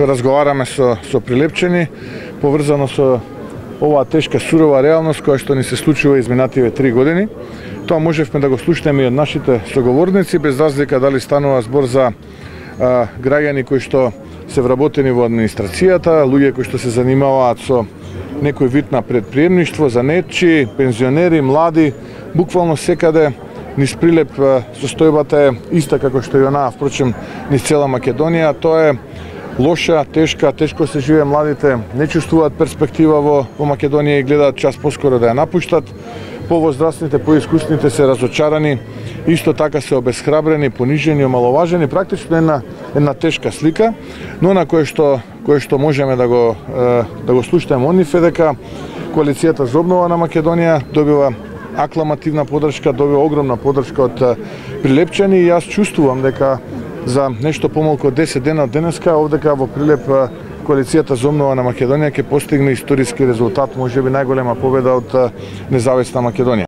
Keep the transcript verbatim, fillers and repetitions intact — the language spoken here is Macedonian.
разговараме со, со Прилепчани, поврзано со оваа тешка сурова реалност која што ни се случува изминативе три години. Тоа можевме да го слушнеме и од нашите соговорници, без разлика дали станува збор за а, граѓани кои што се вработени во администрацијата, луѓе кои што се занимаваат со некој вид на предприемништво, занетчи, пензионери, млади, буквално секаде низ Прилеп состојбата е иста како што и онаа, впрочем, низ цела Македонија. Тоа е лоша, тешка, тешко се живее, младите не чувствуваат перспектива во, во Македонија и гледаат час поскоро да ја напуштат. Повозрастните, поискусните се разочарани, исто така се обесхрабрени, понижени, омаловажени, практично една една тешка слика, но на кое што кое што можеме да го да го слушнеме од нив е дека коалицијата за обнова на Македонија добива акламативна поддршка, добива огромна поддршка од Прилепчани и јас чувствувам дека за нешто помалку од десет дена од денеска овдека во Прилеп коалицијата за обнова на Македонија ќе постигне историски резултат, можеби најголема победа од независна Македонија.